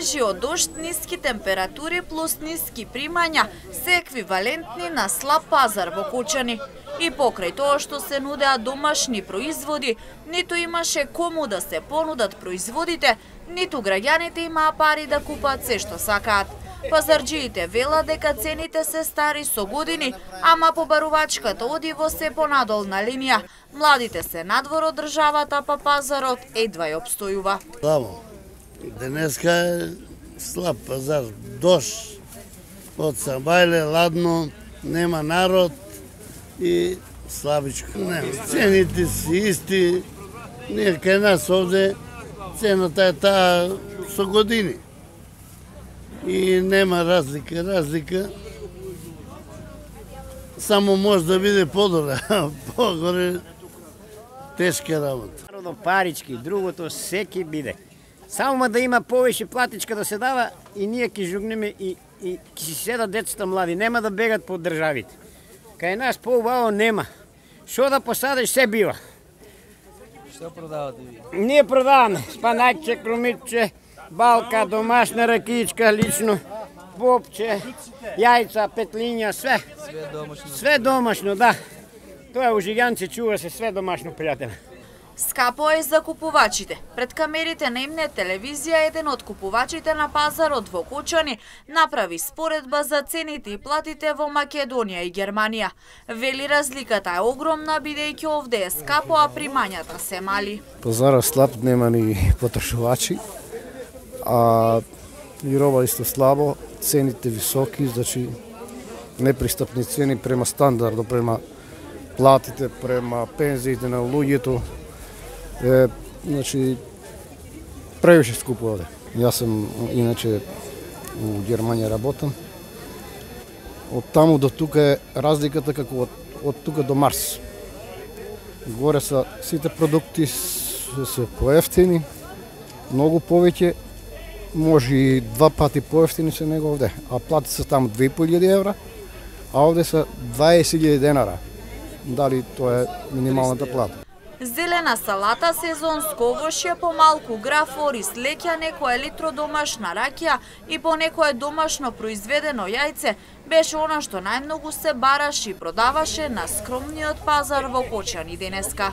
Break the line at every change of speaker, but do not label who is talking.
снежиот дожд, ниски температури плюс ниски примања се еквивалентни на слаб пазар во Кочани. И покрај тоа што се нудеа домашни производи, ниту имаше кому да се понудат производите, ниту граѓаните имаа пари да купат се што сакаат. Пазарџиите велат дека цените се стари со години, ама побарувачката оди во се понадолна линија. Младите се надвор од државата, па пазарот едва ја обстојува.
Слабо. Денеска е слаб пазар, дожд, од сабајле, ладно, нема народ и слабичко. Цените си исти, ние кај нас овде цената е таа со години. И нема разлика, само може да биде подобро, погоре тешка работа.
Парички, другото секи биде. Само да има повеќе платичка да се дава и ние ќе жугнеме и ќе си седат децата млади, нема да бегат по државите. Кај нас поубаво нема. Што да посадиш се бива.
Што продавате ви?
Ние продаваме спанаќе, крумитче, балка, домашна ракичка, лично, бобче, јајца, петлиња, све.
Све домашно?
Све домашно, да. Тоа е ужиганци, чува се све домашно, пријателе.
Скапо е за купувачите. Пред камерите на Имнет телевизија еден од купувачите на пазарот во Кочани направи споредба за цените и платите во Македонија и Германија. Вели разликата е огромна, бидејќи овде е скапо, а примањата се мали.
Пазарот слаб, нема ни потрошувачи, а и роба исто слабо, цените високи, значи непристапни цени према стандардно, према платите, према пензиите на луѓето. Значи, превише скупо овде. Јас сум иначе у Германија работам. Од таму до тука е разликата како од тука до Марс. Горе са сите продукти се поевтини, многу повеќе, може и 2 пати поевтини се него овде. А плати се таму 2.500 евра, а овде са 20.000 денара. Дали тоа е минималната плата?
Зелена салата, сезонско овошје, помалку граф, ориз, леќа, некоја литро домашна ракија и по некое домашно произведено јајце беше она што најмногу се бараше и продаваше на скромниот пазар во Кочани денеска.